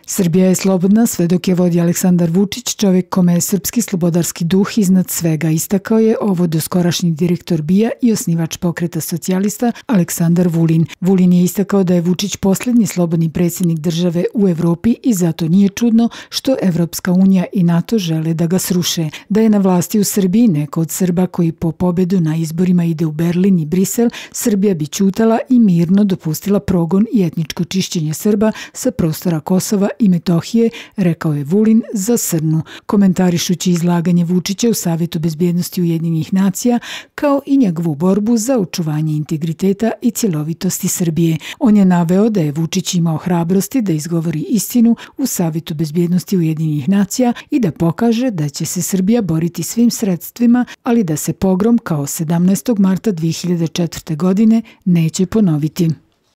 Srbija je slobodna sve dok je vodi Aleksandar Vučić, čovjek kome je srpski slobodarski duh iznad svega, istakao je ovo doskorašnji direktor BIA i osnivač Pokreta socijalista Aleksandar Vulin. Vulin je istakao da je Vučić posljednji slobodni predsjednik države u Evropi i zato nije čudno što Evropska unija i NATO žele da ga sruše. Da je na vlasti u Srbiji neko od Srba koji po pobedu na izborima ide u Berlin i Brisel, Srbija bi ćutala i mirno dopustila progon i etničko čišćenje Srba sa prostora Kosova i Metohije, rekao je Vulin za Srnu, komentarišući izlaganje Vučića u Savetu bezbjednosti Ujedinjenih nacija, kao i njegovu borbu za očuvanje integriteta i cjelovitosti Srbije. On je naveo da je Vučić imao hrabrosti da izgovori istinu u Savetu bezbjednosti Ujedinjenih nacija i da pokaže da će se Srbija boriti svim sredstvima, ali da se pogrom kao 17. marta 2004. godine neće ponoviti.